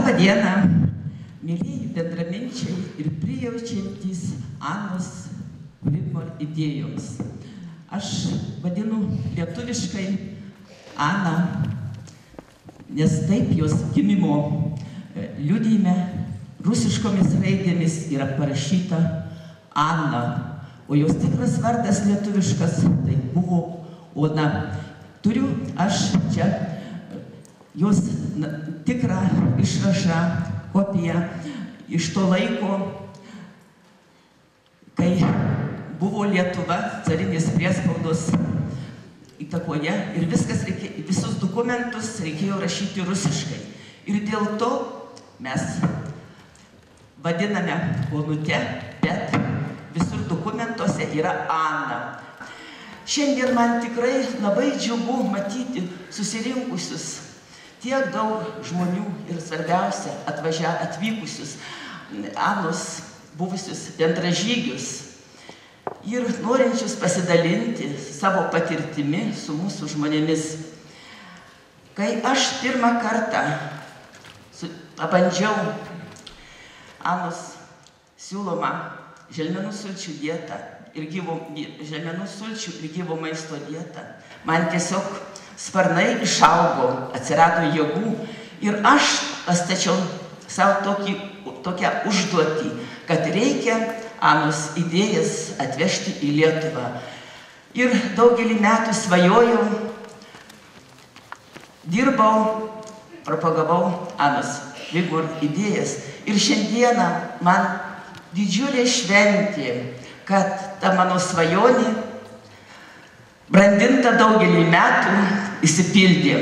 Labą dieną, mėlyji bendraminčiai ir prijaučiantys Anos Vigmor idėjoms. Aš vadinu lietuviškai Aną, nes taip jos gimimo liudijime rusiškomis raidėmis yra parašyta Anna, o jos tikras vardas lietuviškas tai buvo Ona. Turiu aš čia jos tikrą išrašą, kopiją iš to laiko, kai buvo Lietuva carinės priespaudos įtakoje ir visus dokumentus reikėjo rašyti rusiškai. Ir dėl to mes vadiname Onute, bet visur dokumentuose yra Ana. Šiandien man tikrai labai džiugu matyti susirinkusius tiek daug žmonių ir svarbiausia atvykusius Anos buvusius bendražygius ir norinčius pasidalinti savo patirtimi su mūsų žmonėmis. Kai aš pirmą kartą pabandžiau Anos siūlomą želmenų sulčių dietą ir želmenų sulčių ir gyvo maisto dietą, man tiesiog sparnai išaugo, atsirado jėgų ir aš pastačiau savo tokią užduotį, kad reikia Anos idėjas atvežti į Lietuvą. Ir daugelį metų svajojau, dirbau, propagavau Anos Vigmor idėjas. Ir šiandieną man didžiulė šventė, kad ta mano svajonė, brandinta daugelį metų, įsipildė.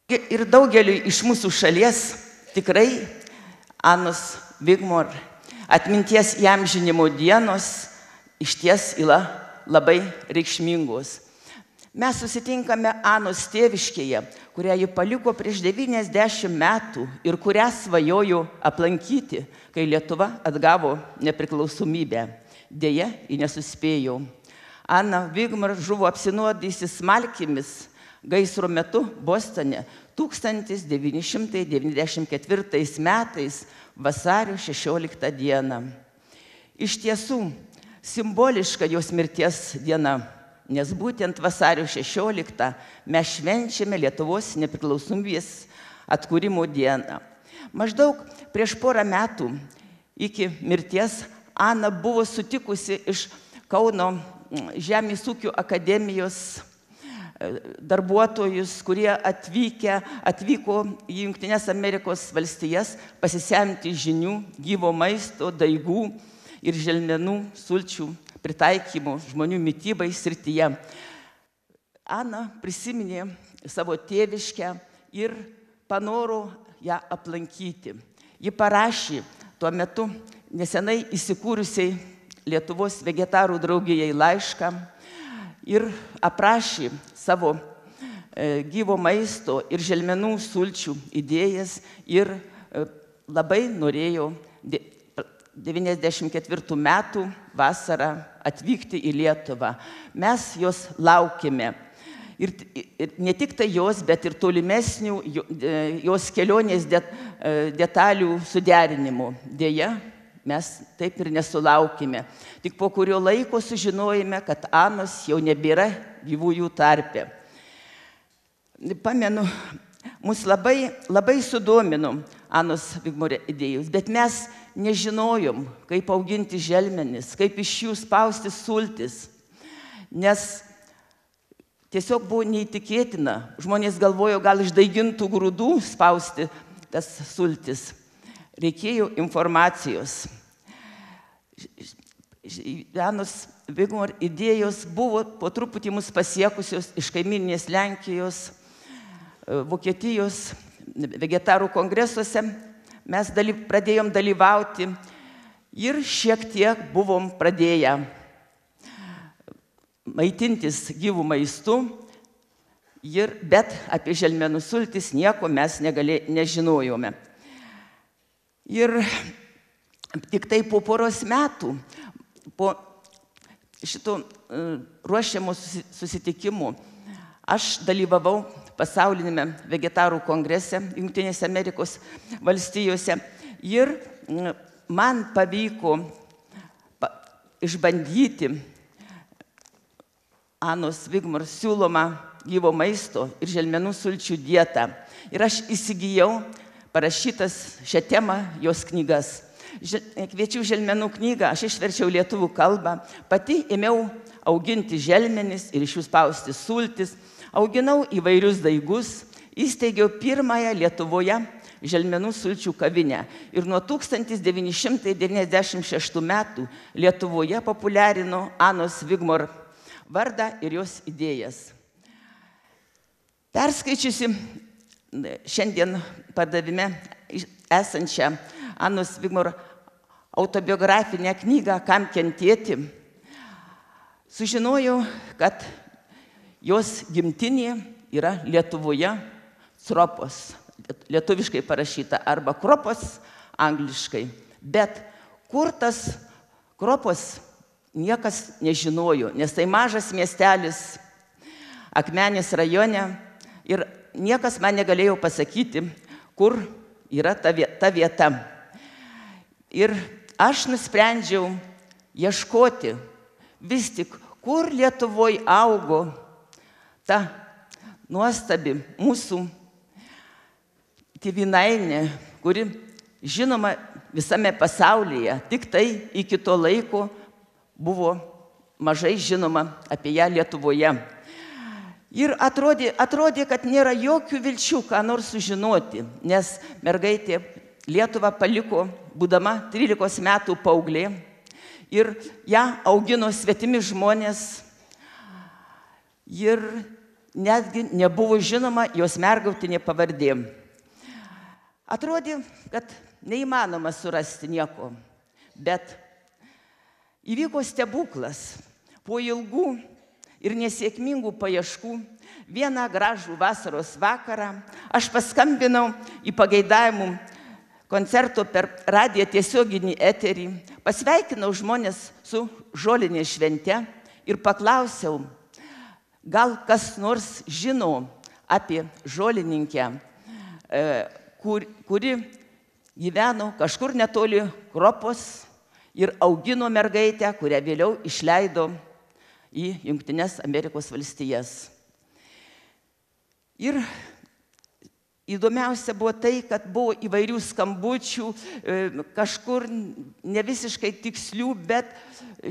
Ir daugeliui iš mūsų šalies tikrai Anos Vigmor atminties įamžinimo dienos išties yra labai reikšmingos. Mes susitinkame Anos tėviškėje, kurią ji paliko prieš 90 metų ir kurią svajojo aplankyti, kai Lietuva atgavo nepriklausomybę. Deja, ji nesuspėjo. Ana Vigmor žuvo apsinuodysi smalkėmis gaisro metu Bostone 1994 metais vasario 16 dieną. Iš tiesų, simboliška jos mirties diena, nes būtent vasario 16 mes švenčiame Lietuvos nepriklausomybės atkūrimo dieną. Maždaug prieš porą metų iki mirties Ana buvo sutikusi iš Kauno Žemės ūkio akademijos darbuotojus, kurie atvyko į Jungtines Amerikos valstijas pasisemti žinių, gyvo maisto, daigų ir želmenų sulčių pritaikymo žmonių mitybai srityje. Ana prisiminė savo tėviškę ir panoro ją aplankyti. Ji parašė tuo metu nesenai įsikūrusiai Lietuvos vegetarų draugijai laišką ir aprašė savo gyvo maisto ir želmenų sulčių idėjas ir labai norėjo 94 metų vasarą atvykti į Lietuvą. Mes jos laukėme. Ir ne tik tai jos, bet ir tolimesnių jos kelionės detalių suderinimų. Deja, mes taip ir nesulaukėme. Tik po kurio laiko sužinojome, kad Anos jau nebėra gyvųjų tarpe. Pamenu, mus labai sudomino Anos Vigmor idėjos, bet mes nežinojom, kaip auginti želmenis, kaip iš jų spausti sultis, nes tiesiog buvo neįtikėtina. Žmonės galvojo, gal iš daigintų grūdų spausti tas sultis. Reikėjo informacijos. Anos Vigmor idėjos buvo po truputį mus pasiekusios iš kaimyninės Lenkijos, Vokietijos vegetarų kongresuose. Mes pradėjom dalyvauti ir šiek tiek buvom pradėję maitintis gyvų maistu, bet apie želmenų sultis nieko mes nežinojome. Ir tik tai po poros metų, po šito ruošiamo susitikimų, Aš dalyvavau pasaulinėme vegetarų kongrese Jungtinėse Amerikos valstijose ir man pavyko išbandyti Anos Wigmore siūlomą gyvo maisto ir želmenų sulčių dietą. Ir aš įsigijau parašytas šią temą jos knygas. Kviečių želmenų knygą aš išverčiau lietuvių kalbą, pati ėmiau auginti želmenis ir iš jų spausti sultis, auginau įvairius daigus, įsteigiau pirmąją Lietuvoje želmenų sulčių kavinę ir nuo 1996 metų Lietuvoje populiarino Anos Wigmore vardą ir jos idėjas. Perskaičiusi šiandien pardavime esančią Anos Wigmore autobiografinę knygą Kam kentėti, sužinojau, kad jos gimtinė yra Lietuvoje, Cropos, lietuviškai parašyta, arba Kropos angliškai. Bet kur tas Kropos, niekas nežinojo, nes tai mažas miestelis Akmenės rajone ir niekas man negalėjo pasakyti, kur yra ta vieta. Ir aš nusprendžiau ieškoti vis tik, kur Lietuvoje augo ta nuostabi mūsų tėvynainė, kuri žinoma visame pasaulyje, tik tai iki to laiko buvo mažai žinoma apie ją Lietuvoje. Ir atrodė, kad nėra jokių vilčių, ką nors sužinoti, nes mergaitė Lietuvą paliko, būdama 13 metų paauglė, ir ją augino svetimi žmonės, ir netgi nebuvo žinoma jos mergautinė pavardė. Atrodė, kad neįmanoma surasti nieko, bet įvyko stebuklas. Po ilgų ir nesėkmingų paieškų vieną gražų vasaros vakarą aš paskambinau į pageidavimų koncerto per radiją tiesioginį eterį, pasveikinau žmonės su žolinės švente ir paklausiau, gal kas nors žino apie žolininkę, kuri gyveno kažkur netoli Kropos ir augino mergaitę, kurią vėliau išleido į Jungtines Amerikos valstijas. Ir įdomiausia buvo tai, kad buvo įvairių skambučių, kažkur ne visiškai tikslių, bet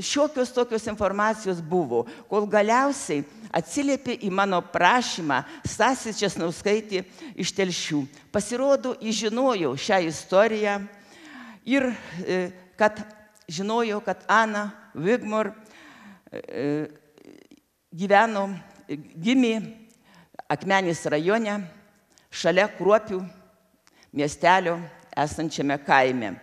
šiokios tokios informacijos buvo, kol galiausiai atsiliepė į mano prašymą Stasė Česnauskaitė iš Telšių. Pasirodo, žinojau šią istoriją ir kad žinojau, kad Ana Wigmore gimė Akmenės rajone, šalia Kruopių miestelio esančiame kaime.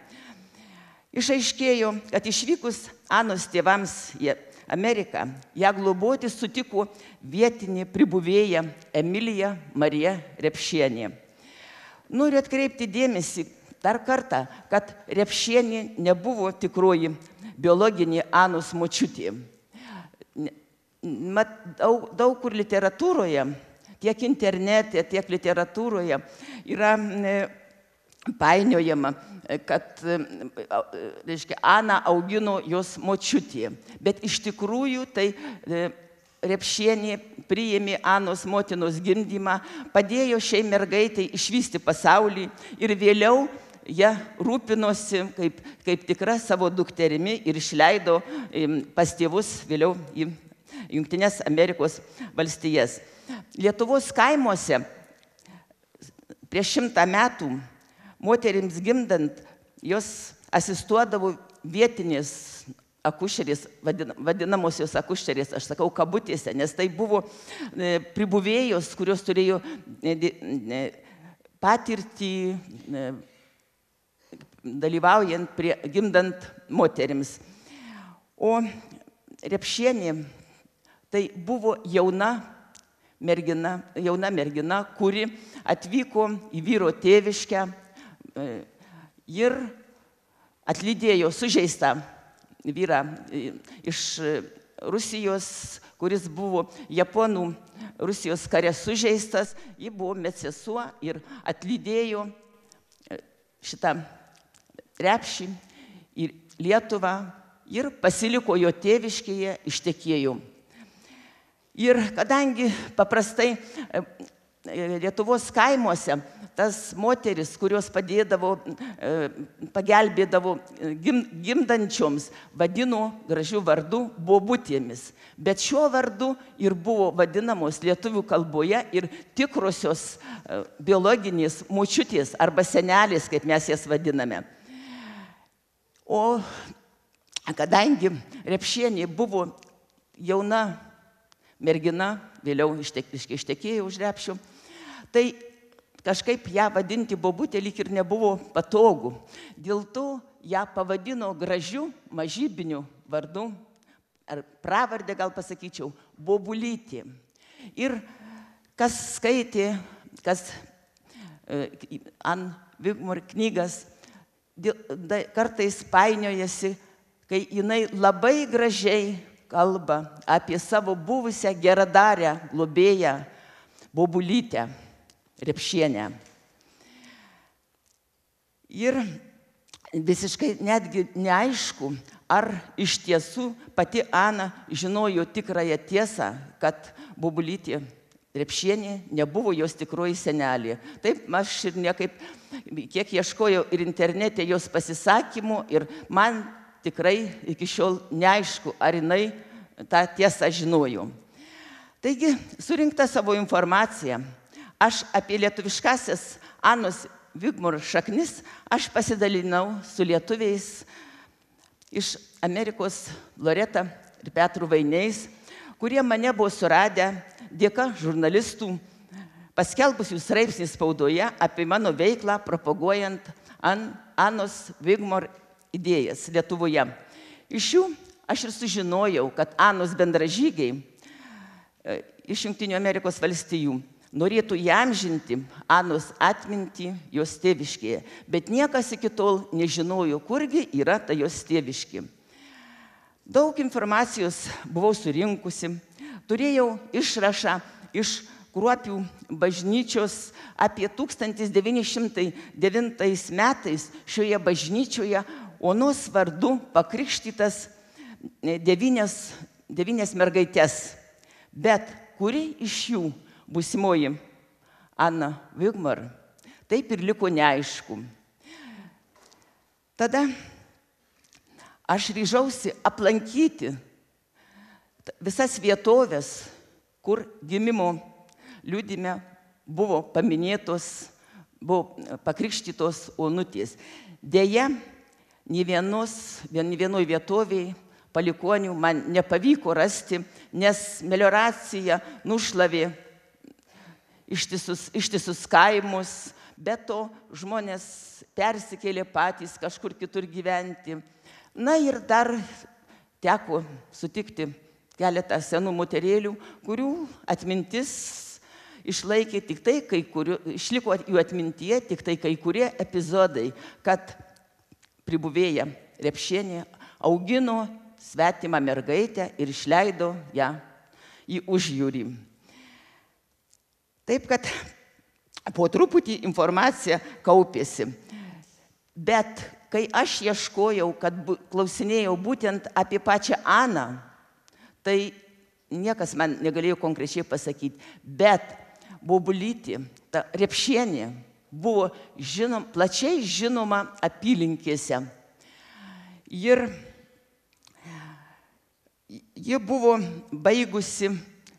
Išaiškėjo, kad išvykus Anos tėvams į Ameriką, ją globoti sutiko vietinė pribuvėja Emilija Marija Repšienė. Noriu atkreipti dėmesį dar kartą, kad Repšienė nebuvo tikroji biologinė Anos močiutė. Daug kur literatūroje, tiek internete, tiek literatūroje yra painiojama, kad Ana augino jos močiutė. Bet iš tikrųjų tai Repšienė priėmė Anos motinos gimdymą, padėjo šiai mergaitai išvysti pasaulį ir vėliau ją rūpinosi kaip tikra savo dukterimi ir išleido pas tėvus vėliau į Jungtines Amerikos valstijas. Lietuvos kaimuose prieš 100 metų moterims gimdant jos asistuodavo vietinės akušerės, vadinamosios akušerės, aš sakau kabutėse, nes tai buvo pribuvėjos, kurios turėjo patirtį dalyvaujant gimdant moterims. O Repšienė tai buvo jauna mergina, kuri atvyko į vyro tėviškę ir atlydėjo sužeistą vyrą iš Rusijos, kuris buvo Japonų Rusijos kare sužeistas, ji buvo medsesuo ir atlydėjo šitą repšį į Lietuvą ir pasiliko jo tėviškėje, ištekėjo. Ir kadangi paprastai Lietuvos kaimuose tas moteris, kurios padėdavo, pagelbėdavo gimdančioms, vadino gražių vardų bobutėmis. Bet šiuo vardu ir buvo vadinamos lietuvių kalboje ir tikrosios biologinės močiutės arba senelės, kaip mes jas vadiname. O kadangi Repšienė buvo jauna mergina, vėliau ištekėjo už Repšio, tai kažkaip ją vadinti bobutė lyg ir nebuvo patogu. Dėl to ją pavadino gražiu mažybiniu vardu, ar pravardę gal pasakyčiau, Bobulytė. Ir kas skaitė, kas Ann Wigmore knygas, kartais painiojasi, kai jinai labai gražiai kalba apie savo buvusią geradarę globėją Bobulytę Repšienę. Ir visiškai netgi neaišku, ar iš tiesų pati Ana žinojo tikrąją tiesą, kad Bobulytė Repšienė nebuvo jos tikroji senelė. Taip, aš ir niekaip, kiek ieškojau ir internete jos pasisakymų, ir man tikrai iki šiol neaišku, ar jinai tą tiesą žinojo. Taigi, surinkta savo informaciją, aš apie lietuviškasias Anos Wigmore šaknis, aš pasidalinau su lietuviais iš Amerikos Loreta ir Petru Vainiais, kurie mane buvo suradę dėka žurnalistų paskelbusių straipsnį spaudoje apie mano veiklą propaguojant Anos Wigmore idėjas Lietuvoje. Iš jų aš ir sužinojau, kad Anos bendražygiai iš Jungtinių Amerikos valstijų norėtų įamžinti Anos atmintį jos tėviškėje, bet niekas iki tol nežinojo, kurgi yra ta jos tėviškė. Daug informacijos buvau surinkusi, turėjau išrašą iš Kruopių bažnyčios apie 1909 metais šioje bažnyčioje Onos vardu pakrikštytas 9 mergaitės, bet kuri iš jų būsimoji Anna Wigmore, taip ir liko neaišku. Tada aš ryžausi aplankyti visas vietovės, kur gimimo liudime buvo paminėtos, buvo pakrikštytos Onutės. Deja, nė vienoj vietovėje palikonių man nepavyko rasti, nes melioracija nušlavė ištisus kaimus, bet to žmonės persikėlė patys kažkur kitur gyventi. Na ir dar teko sutikti keletą senų moterėlių, kurių atmintis išlaikė tik tai, išliko jų atmintyje tik tai kai kurie epizodai, kad pribuvėja Repšienė augino svetimą mergaitę ir išleido ją į užjūrį. Taip, kad po truputį informacija kaupėsi. Bet kai aš ieškojau, kad klausinėjau būtent apie pačią Aną, tai niekas man negalėjo konkrečiai pasakyti. Bet Bobulytė, ta Repšienė, buvo plačiai žinoma apylinkėse. Ir ji buvo baigusi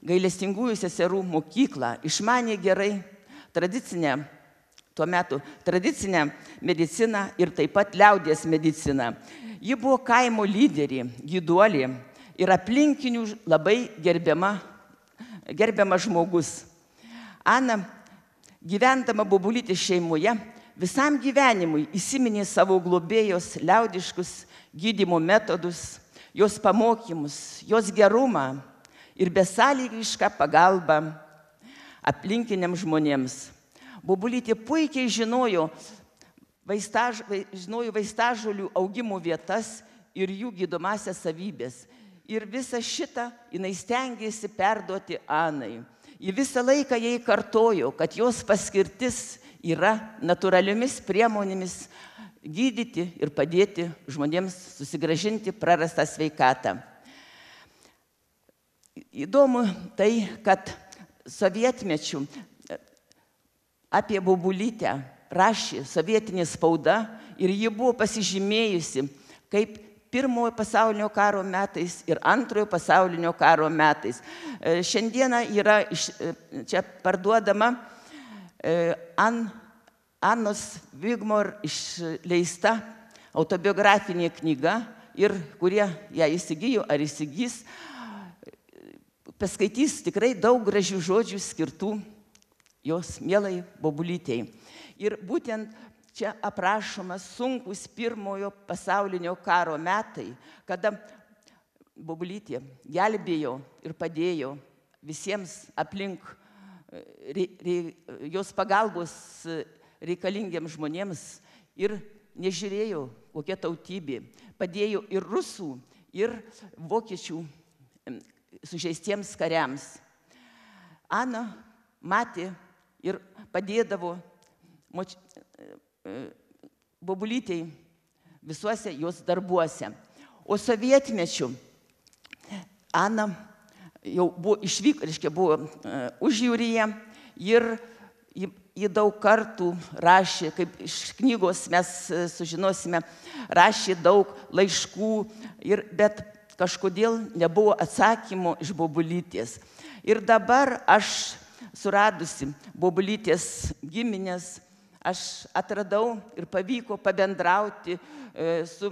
gailestingųjų seserų mokyklą, išmanė gerai tuo metu tradicinę mediciną ir taip pat liaudies mediciną. Ji buvo kaimo lyderė, gyduolė ir aplinkinių labai gerbiama žmogus. Ana, gyvendama Bobulytės šeimoje, visam gyvenimui įsiminė savo globėjos liaudiškus gydymo metodus, jos pamokymus, jos gerumą ir besąlygišką pagalbą aplinkiniams žmonėms. Bobulytė puikiai žinojo vaistažolių augimo vietas ir jų gydomąsias savybės. ir visą šitą jinai stengiasi perduoti Anai. Ji visą laiką jai kartojo, kad jos paskirtis yra natūraliomis priemonėmis gydyti ir padėti žmonėms susigrąžinti prarastą sveikatą. Įdomu tai, kad sovietmečių apie Bobulytę rašė sovietinė spauda ir ji buvo pasižymėjusi kaip Pirmojo pasaulinio karo metais ir Antrojo pasaulinio karo metais. Šiandieną yra čia parduodama Anos Wigmore išleista autobiografinė knyga ir kurie ją įsigijo ar įsigys, paskaitys tikrai daug gražių žodžių skirtų jos mielai Bobulytei. Ir būtent čia aprašomas sunkus Pirmojo pasaulinio karo metai, kada Bobulytė gelbėjo ir padėjo visiems aplink jos pagalbos reikalingiems žmonėms ir nežiūrėjo, kokia tautybė. Padėjo ir rusų, ir vokiečių sužeistiems kariams. Ana matė ir padėdavo Bobulytei visuose jos darbuose. O sovietmečiu Ana jau buvo buvo užjūryje ir ji daug kartų rašė, kaip iš knygos mes sužinosime, rašė daug laiškų, bet kažkodėl nebuvo atsakymo iš Bobulytės. Ir dabar aš suradusi Bobulytės giminės, aš atradau ir pavyko pabendrauti su,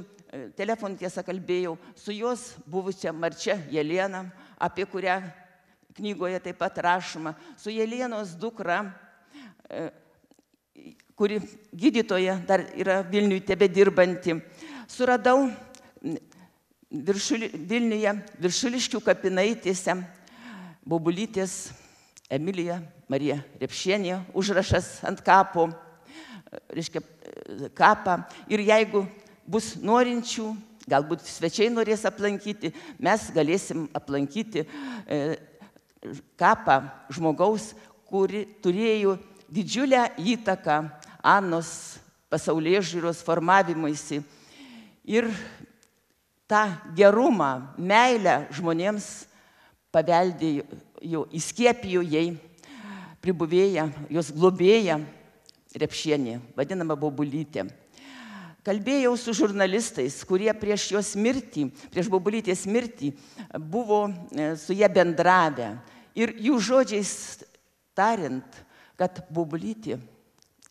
telefonu tiesą kalbėjau, su jos buvusia Marčia Jelena, apie kurią knygoje taip pat rašoma, su Jelenos dukra, kuri gydytoja dar yra Vilniuje tebedirbanti. Suradau Vilniuje Viršuliškių kapinaitėse Bobulytės Emilija Marija Repšienė, užrašas ant kapo, reiškia kapą. Ir jeigu bus norinčių, galbūt svečiai norės aplankyti, mes galėsim aplankyti kapą žmogaus, kuri turėjo didžiulę įtaką Anos pasaulėžiūros formavimuisi. Ir tą gerumą, meilę žmonėms paveldėjo, įskiepijo jai pribuvėja, jos globėja Repšienė, vadinama Bobulytė. Kalbėjau su žurnalistais, kurie prieš jos mirtį, prieš Bobulytės mirtį buvo su ją bendravę. Ir jų žodžiais tariant, kad Bobulytė,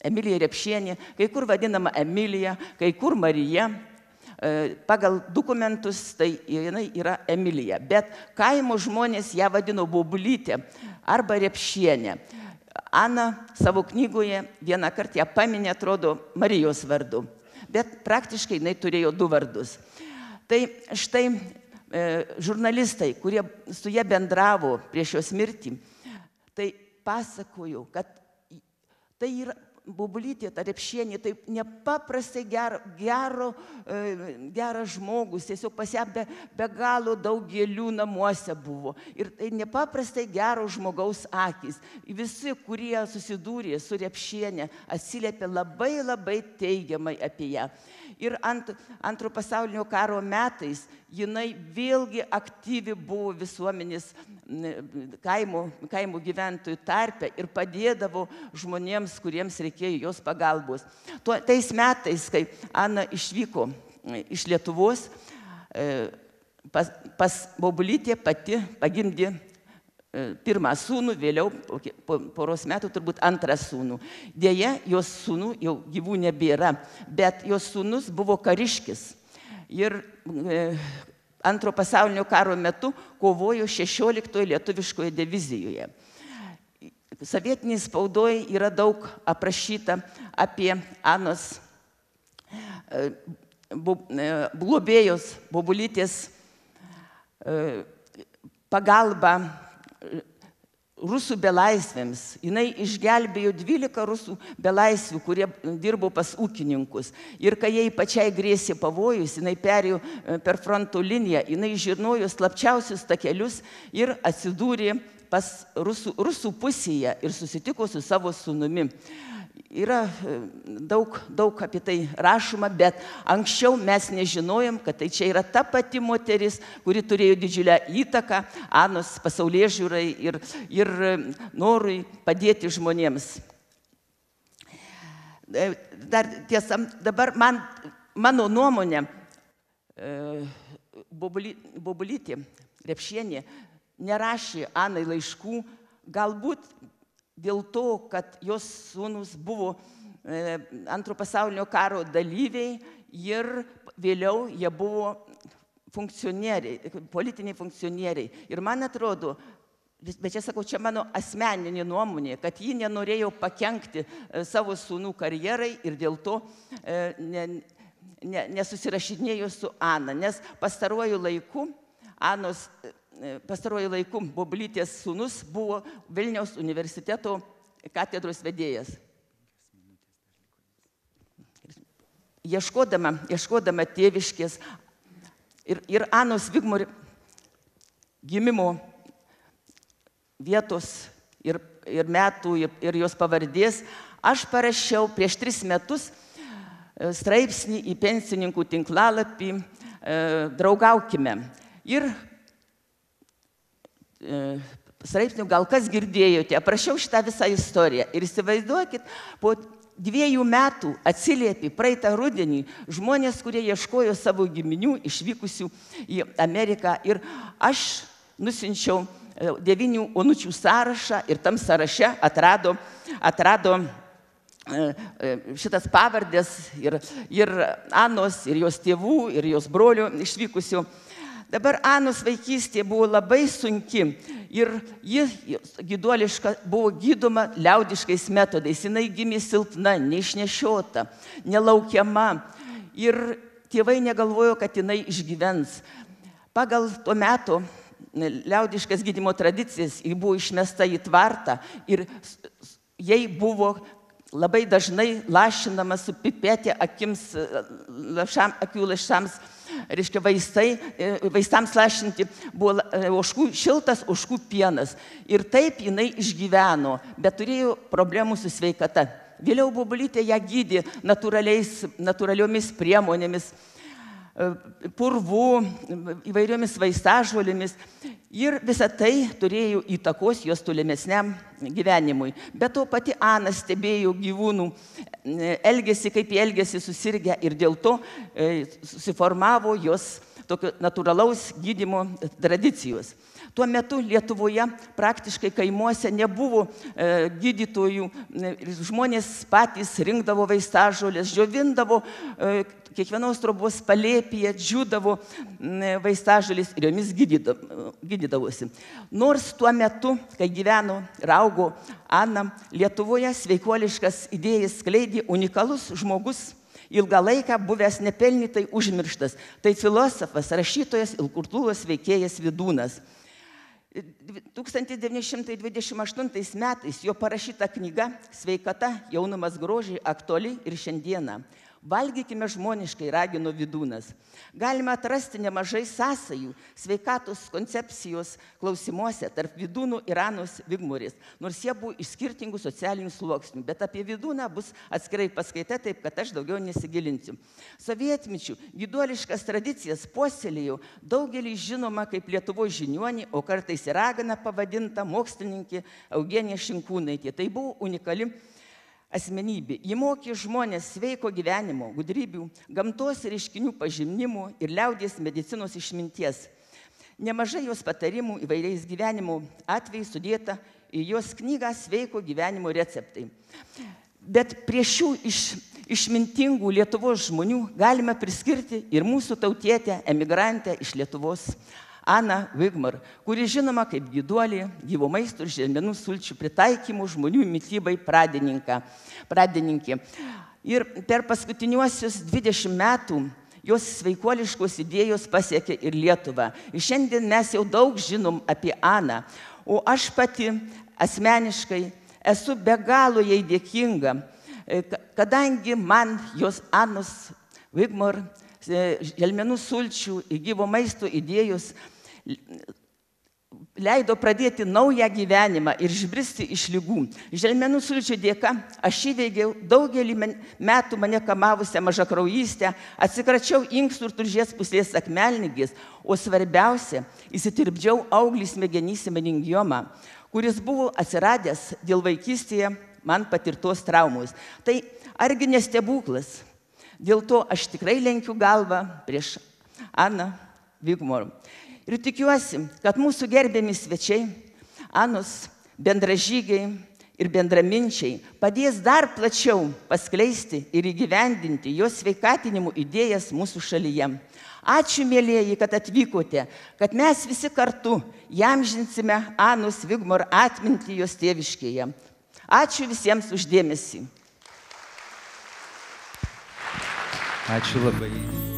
Emilija Repšienė, kai kur vadinama Emilija, kai kur Marija, pagal dokumentus tai jinai yra Emilija, bet kaimo žmonės ją vadino Bobulytė arba Repšienė. Ana savo knygoje vieną kartą ją paminė, atrodo, Marijos vardu, bet praktiškai jinai turėjo du vardus. Tai štai žurnalistai, kurie su ją bendravo prieš jos mirtį, tai pasakojo, kad tai yra Bobulytė, ta Repšienė, tai nepaprastai geras žmogus, tiesiog pas ją be galo daug gėlių namuose buvo. Ir tai nepaprastai gero žmogaus akis. Visi, kurie susidūrė su Repšienė, atsiliepė labai teigiamai apie ją. Ir Antro pasaulinio karo metais jinai vėlgi aktyvi buvo visuomenės kaimo gyventojų tarpe ir padėdavo žmonėms, kuriems reikėjo jos pagalbos. Tais metais, kai Ana išvyko iš Lietuvos, pas Bobulytė pati pagimdė pirmą sūnų, vėliau po poros metų turbūt antrą sūnų. Deja, jos sūnų jau gyvų nebėra, bet jos sūnus buvo kariškis. Ir Antro pasaulinio karo metu kovojo 16 lietuviškoje divizijoje. Sovietinėje spaudoje yra daug aprašyta apie Anos globėjos Bobulytės pagalbą rusų belaisvėms. Jinai išgelbėjo 12 rusų belaisvių, kurie dirbo pas ūkininkus. Ir kai jai pačiai grėsė pavojus, jinai perėjo per fronto liniją, jinai žinojo slapčiausius takelius ir atsidūrė pas rusų pusėje ir susitiko su savo sūnumi. Yra daug apie tai rašoma, bet anksčiau mes nežinojom, kad tai čia yra ta pati moteris, kuri turėjo didžiulę įtaką Anos pasaulėžiūrai ir norui padėti žmonėms. Dar tiesa, dabar mano nuomonė, Bobulytė Repšienė nerašė Anai laiškų, galbūt dėl to, kad jos sūnus buvo Antro pasaulinio karo dalyviai ir vėliau jie buvo funkcionieriai, politiniai funkcionieriai. Ir man atrodo, bet čia sakau, čia mano asmeninė nuomonė, kad ji nenorėjo pakenkti savo sūnų karjerai ir dėl to nesusirašinėjo su Ana, nes pastaruoju laiku Bobulytės sūnus buvo Vilniaus universiteto katedros vedėjas. Ieškodama tėviškės ir Anos Vigmor gimimo vietos ir metų ir jos pavardės, aš parašiau prieš 3 metus straipsnį į pensininkų tinklalapį Draugaukime. Ir straipsnių gal kas girdėjote, aprašiau šitą visą istoriją. Ir įsivaizduokit, po 2 metų atsiliepė praeitą rudenį žmonės, kurie ieškojo savo giminių išvykusių į Ameriką. Ir aš nusinčiau 9 onučių sąrašą ir tam sąraše atrado šitas pavardės ir Anos, ir jos tėvų, ir jos brolių išvykusių. Dabar Anos vaikystė buvo labai sunki ir ji gyduoliška buvo gydoma liaudiškais metodais. Jinai gimė silpna, neišnešiota, nelaukiama ir tėvai negalvojo, kad jinai išgyvens. Pagal to meto liaudiškas gydymo tradicijas ji buvo išmesta į tvartą ir jai buvo labai dažnai lašinama su pipetė akių lašams, reiškia vaistams lašinti buvo šiltas ožkų pienas. Ir taip jinai išgyveno, bet turėjo problemų su sveikata. Vėliau Bobulytė ją gydė natūraliomis priemonėmis, purvų, įvairiomis vaistažolėmis ir visą tai turėjo įtakos jos tolimesniam gyvenimui. Bet to pati Ana stebėjo gyvūnų elgesį, kaip jie elgėsi susirgę ir dėl to susiformavo jos tokio natūralaus gydymo tradicijos. Tuo metu Lietuvoje praktiškai kaimuose nebuvo gydytojų, žmonės patys rinkdavo vaistažolės, džiovindavo kiekvienos trobos palėpėje, džiūdavo vaistažolės ir jomis gydydavosi. Nors tuo metu, kai gyveno ir augo Ana, Lietuvoje sveikuoliškas idėjas skleidė unikalus žmogus, ilgą laiką buvęs nepelnytai užmirštas. Tai filosofas, rašytojas ir kultūros veikėjas Vydūnas. 1928 metais jo parašyta knyga "Sveikata, jaunumas, grožiai" aktuali ir šiandieną. Valgykime žmoniškai, ragino Vydūnas. Galima atrasti nemažai sąsajų sveikatos koncepcijos klausimuose tarp Vydūnų ir Anos Vigmorės, nors jie buvo iš skirtingų socialinių sluoksnių, bet apie Vydūną bus atskirai paskaita, taip kad aš daugiau nesigilinsiu. Sovietmečiu gyduoliškas tradicijas puoselėjo daugelį žinoma kaip Lietuvos žiniuonį, o kartais ir ragana pavadinta mokslininkė Eugenija Šinkūnaitė. Tai buvo unikali asmenybė. Ji mokė žmonės sveiko gyvenimo, gudrybių, gamtos reiškinių pažinimų ir liaudies medicinos išminties. Nemažai jos patarimų įvairiais gyvenimo atvejais sudėta į jos knygą "Sveiko gyvenimo receptai". Bet prie šių išmintingų Lietuvos žmonių galime priskirti ir mūsų tautietę emigrantę iš Lietuvos, Aną Vigmor, kuri žinoma kaip gyduolė, gyvo maisto ir želmenų sulčių pritaikymų žmonių mitybai pradininkė. Ir per paskutiniuosius 20 metų jos sveikuoliškos idėjos pasiekė ir Lietuvą. Ir šiandien mes jau daug žinom apie Aną, o aš pati asmeniškai esu be galo jai dėkinga, kadangi man jos Anos Vigmor želmenų sulčių ir gyvo maisto idėjos leido pradėti naują gyvenimą ir išbristi iš ligų. Želmenų sulčių dėka aš įveikiau daugelį metų mane kamavusią mažakraujystę, atsikračiau inkstų ir tulžies pūslės akmelligės, o svarbiausia, įsitirpdžiau auglį smegenyse meningiomą, kuris buvo atsiradęs dėl vaikystėje man patirtos traumos. Tai argi nestebuklas? Dėl to aš tikrai lenkiu galvą prieš Aną Vigmor. Ir tikiuosi, kad mūsų gerbiami svečiai, Anos bendražygiai ir bendraminčiai padės dar plačiau paskleisti ir įgyvendinti jos sveikatinimo idėjas mūsų šalyje. Ačiū, mėlieji, kad atvykote, kad mes visi kartu įamžinsime Anos Vigmor atmintį jos tėviškėje. Ačiū visiems už dėmesį. Ačiū labai.